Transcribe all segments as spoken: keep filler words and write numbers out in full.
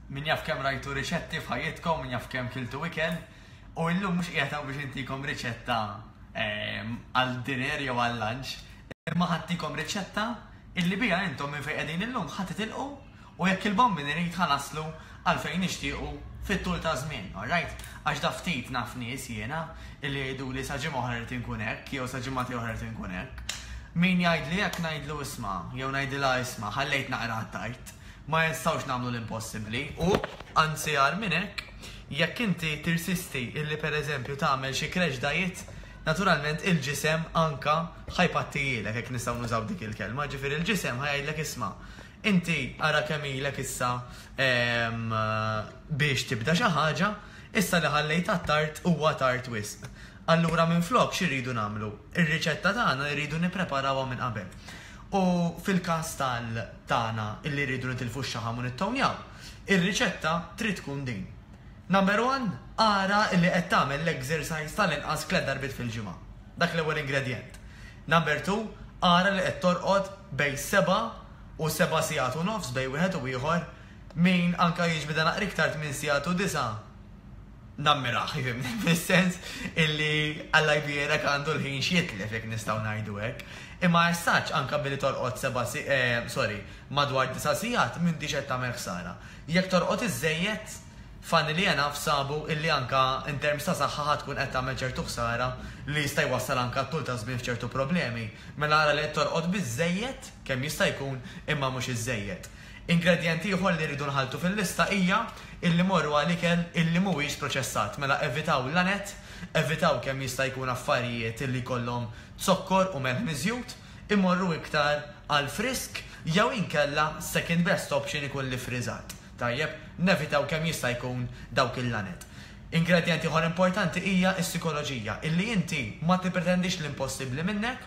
Min jaf kemm rajtu riċetti f'ħajjitkom, min jaf kemm kiltu ikel, u illum mhux qiegħed hawn biex intikom riċetta ehm, għal dinner jew għal lunch, imma ħa ntikom riċetta illi biha intom minn fejn qegħdin illum ħa titilqu u jekk il-Bambin irid ħa naslu għal fejn nixtiequ fit-tul ta' żmien, alright? Għax da ftit naf nies jiena illi jgħidu li sa ġimgħa oħra rrid inkun hekk jew sa ġimgħa oħra rrid inkun hekk. Min jgħidli hekk ngħidlu isma' jew ngħidilha isma' ħallejt naqra tard. Ma nistgħux nagħmlu l-impossibbli u anzi agħar minn hekk, jekk inti tirsisti illi pereżempju tagħmel xi crash diet, naturalment il-ġisem anka ħa jpattijilek, jekk nistgħu nużaw dik il-kelma, ġifieri il-ġisem ħa jgħidlek isma'. Inti ara kemm ilek issa em, biex tibda xi ħaġa, issa li ħallejt tard huwa tard wisq. Allura minn flok x'irridu nagħmlu? Ir-riċetta tagħna rridu nippreparawha minn qabel. U fil-każ tal tagħna illi rridu nitilfu x-xaħam u nittonjaw, ir-riċetta trid tkun din. Number one, ara illi qed tagħmel l-exercise tal-inqas tliet darbiet fil-ġimgħa. Dak l-ewwel ingredient. Number two, ara li qed torqod bejn seba' u seba' sigħat u nofs bejn wieħed u ieħor, min anka jiġbida naqra iktar minn sigħat u disa' nammirah, jifhimni, fis-sens illi Alla jbierek għandu l-ħin x'jitlef, jekk nistgħu ngħidu hekk. Imma as such anka billi torqod seba' si, eh, sorry, madwar disa' sigħat m'intix qed tagħmel ħsara. Jekk torqod iżejjed, fanni li jena fsabu illi anka in terms ta' saħħa ħa tkun qed tagħmel ċertu ħsara li jista' jwassal anka tul ta' żmien f'ċertu problemi. Mela ara li qed torqod biżejjed kemm jista' jkun, imma mhux iżejjed. Ingredient ieħor li rridu nħaltu fil-lista hija illi morru għal ikel illi mhuwiex proċessat. Mela evitaw l-lanet, evitaw kemm jista' jkun affarijiet illi jkollhom zokkor u melħ miżjud, imorru iktar għal frisk jew inkella second best option ikun li friżat. Tajjeb, nevitaw kemm jista' jkun dawk il-lanet. Ingredient ieħor importanti hija s-psikoloġija, illi inti ma tippretendix l-impossibbli minnek,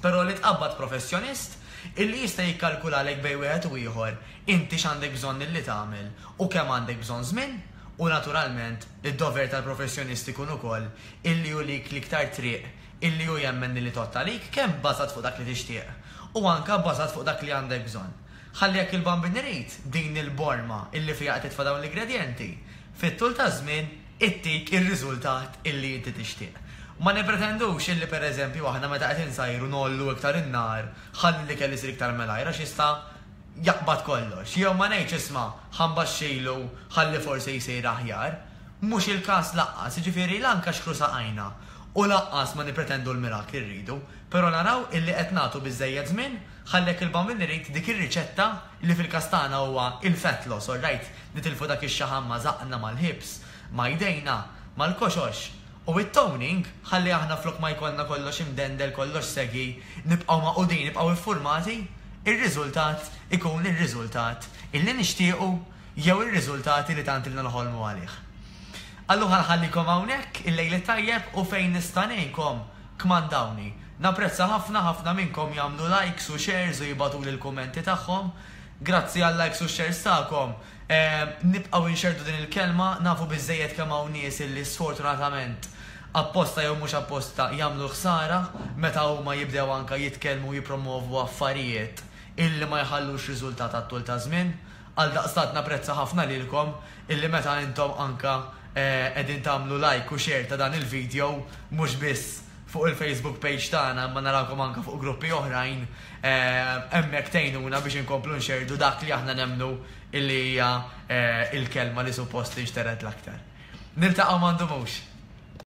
però li tqabbad professjonist illi jista' jikkalkulalek bejn wieħed u ieħor inti x'għandek bżonn illi tagħmel u kemm għandek bżonn żmien, u naturalment id-dover tal-professjonist ikun ukoll illi jurik l-iktar triq illi hu jemmen li tgħodd għalik, kemm bażat fuq dak li tixtieq u anka bażat fuq dak li għandek bżonn. Ħalli jekk il-Bambin irid din il-borma illi fiha qed titfa' dawn l-ingredjenti, fit-tul ta' żmien ittik ir-riżultat illi inti tixtieq. Ma nipretendux illi pereżempju aħna meta qed insajru ngħollu iktar in-nar ħalli li kelli jsir iktar malajr għax jista' jaqbad kollox. Jew ma ngħidx isma' ħa nbaxxilu ħalli forsi jsir aħjar. Mhux il-każ lanqas, jiġifieri lanka xkru saqajna u lanqas ma nipretendu l-mirakli rridu, però naraw illi qed nagħtu biżejjed żmien ħalli jekk il-Bambin irid dik ir-riċetta li fil-każ tagħna huwa il-fat loss, alright, nitilfu dak ix-xaħam ma' żaqna, mal-hips, ma' jdejna, mal-koxox. U it-toning, ħalli aħna flok ma jkollna kollox imdendel, kollox segi, nibqgħu maqudin, nibqgħu iffurmati, ir-riżultat ikun ir-riżultat illi nixtiequ jew ir-riżultati li tant ilna noħolmu għalih. Allura ħallikom hawnhekk il-lejl tajjeb u fejn nista' ngħinkom kmandawni. Napprezza ħafna ħafna minnkom jagħmlu likes u shares u jibagħtu l-kummenti tagħhom. Grazzi għal likes u shares tagħkom. Eh, nibqgħu nxerdu din il-kelma, nafu biżejjed kemm hawn nies illi sfortunatament apposta jew mhux apposta jagħmlu ħsara meta huma jibdew anka jitkellmu u jippromovu affarijiet illi ma jħallux riżultat għat-tul ta' żmien. Għal daqstant napprezza ħafna lilkom illi meta intom anka eh, qegħdin tagħmlu like u share ta' dan il-video mhux biss fuq il-Facebook page tagħna, imma narawkom anka fuq gruppi oħrajn, eh, hemmhekk tgħinuna biex inkomplu nxerdu dak li aħna nemmnu illi hija eh, il-kelma li suppost tinxtered l-aktar. Niltaqgħu m'għandu mhux.